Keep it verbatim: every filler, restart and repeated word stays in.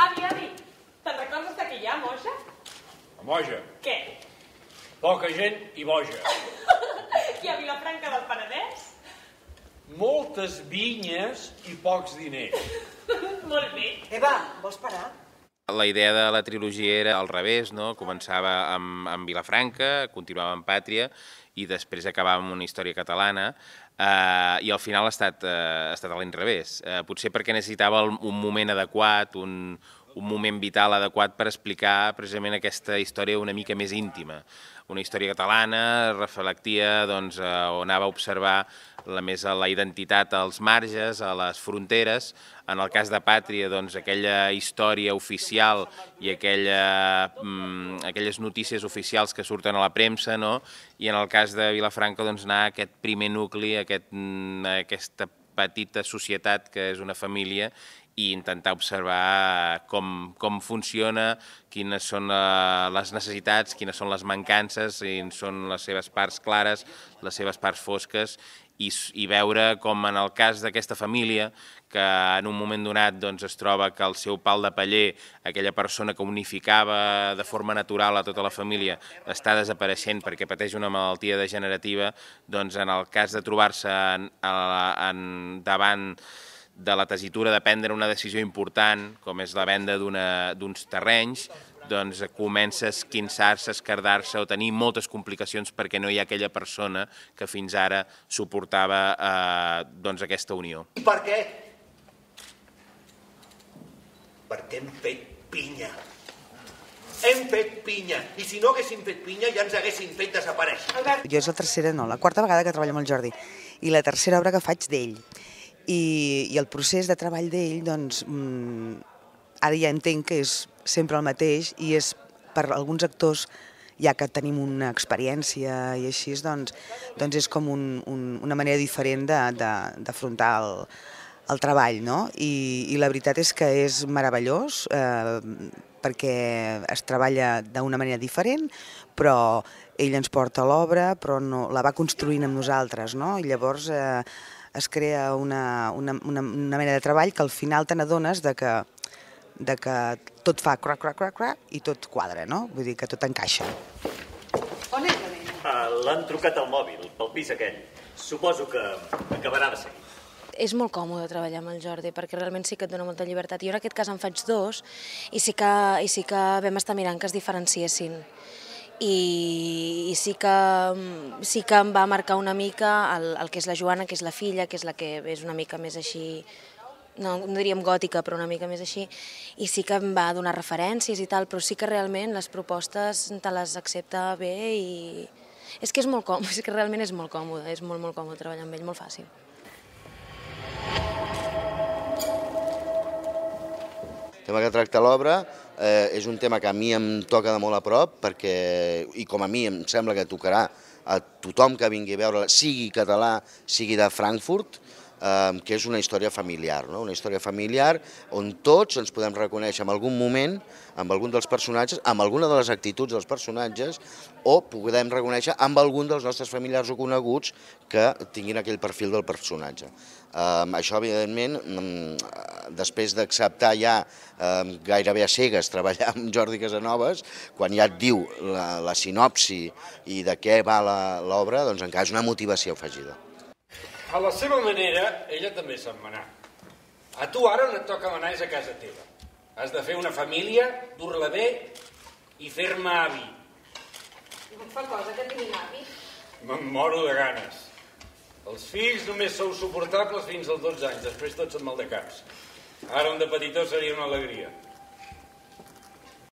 Avi, avi, te'n recordes d'aquella moja? A Moja? Què? Poca gent i boja. I a Vilafranca del Penedès? Moltes vinyes i pocs diners. Molt bé. Eva, vols parar? La idea de la trilogia era al revés, no? Començava amb, amb Vilafranca, continuava amb Pàtria i després acabava amb una història catalana eh, i al final ha estat, eh, ha estat a l'inrevés. Eh, potser perquè necessitava un moment adequat, un, un moment vital adequat per explicar precisament aquesta història una mica més íntima. Una història catalana reflectia doncs, o anava a observar la, més la identitat als marges, a les fronteres. En el cas de Pàtria, doncs, aquella història oficial i aquella, mm, aquelles notícies oficials que surten a la premsa, no? I en el cas de Vilafranca doncs, anar a aquest primer nucli, a aquest, a aquesta petita societat que és una família i intentar observar com, com funciona, quines són les necessitats, quines són les mancances, quines són les seves parts clares, les seves parts fosques, i, i veure com en el cas d'aquesta família, que en un moment donat doncs, es troba que el seu pal de paller, aquella persona que unificava de forma natural a tota la família, està desapareixent perquè pateix una malaltia degenerativa, doncs en el cas de trobar-se en, en, davant de la tessitura de prendre una decisió important, com és la venda d'uns terrenys, doncs comença a esquinçar-se, a esquerdar-se o tenir moltes complicacions perquè no hi ha aquella persona que fins ara suportava eh, doncs aquesta unió. I per què? Perquè hem fet pinya. Hem fet pinya. I si no haguéssim fet pinya ja ens haguessin fet desaparèixer. Jo és la tercera, no, la quarta vegada que treballo amb el Jordi. I la tercera obra que faig d'ell. I, i el procés de treball d'ell, doncs, mmm, ara ja entenc que és sempre el mateix i és per alguns actors, ja que tenim una experiència i així, doncs, doncs és com un, un, una manera diferent d'afrontar el, el treball, no? I, i la veritat és que és meravellós, eh, perquè es treballa d'una manera diferent, però ell ens porta l'obra, però no, la va construint amb nosaltres, no? I llavors eh, es crea una, una, una, una mena de treball que al final te n'adones de que, de que tot fa crac, crac, crac, crac i tot quadra, no? Vull dir que tot encaixa. On és la nena? Uh, L'han trucat al mòbil, pel pis aquell. Suposo que acabarà de seguir. És molt còmode treballar amb el Jordi, perquè realment sí que et dona molta llibertat. Jo en aquest cas en faig dos i sí que, i sí que vam estar mirant que es diferenciessin. I, i sí, que, sí que em va marcar una mica el, el que és la Joana, que és la filla, que és la que és una mica més així, no, no diríem gòtica, però una mica més així, i sí que em va donar referències i tal, però sí que realment les propostes te les accepta bé i és que és molt còmode, és que realment és molt còmode, és molt, molt còmode treballar amb ell, molt fàcil. El tema que tracta l'obra eh, és un tema que a mi em toca de molt a prop perquè, i com a mi em sembla que tocarà a tothom que vingui a veure, sigui català, sigui de Frankfurt, eh, que és una història familiar, no? Una història familiar on tots ens podem reconèixer en algun moment, amb algun dels personatges, amb alguna de les actituds dels personatges, o podem reconèixer amb algun dels nostres familiars o coneguts que tinguin aquell perfil del personatge. Um, això, evidentment, um, després d'acceptar ja um, gairebé a cegues treballar amb Jordi Casanovas, quan ja et diu la, la sinopsi i de què va l'obra, doncs encara és una motivació afegida. A la seva manera, ella també sap manar. A tu ara on et toca manar és a casa teva. Has de fer una família, dur-la bé i fer-me avi. No em fa cosa que tinguin avi. Me'n moro de ganes. Els fills només sou suportables fins als dotze anys, després tots són maldecaps. Ara un de petitó seria una alegria.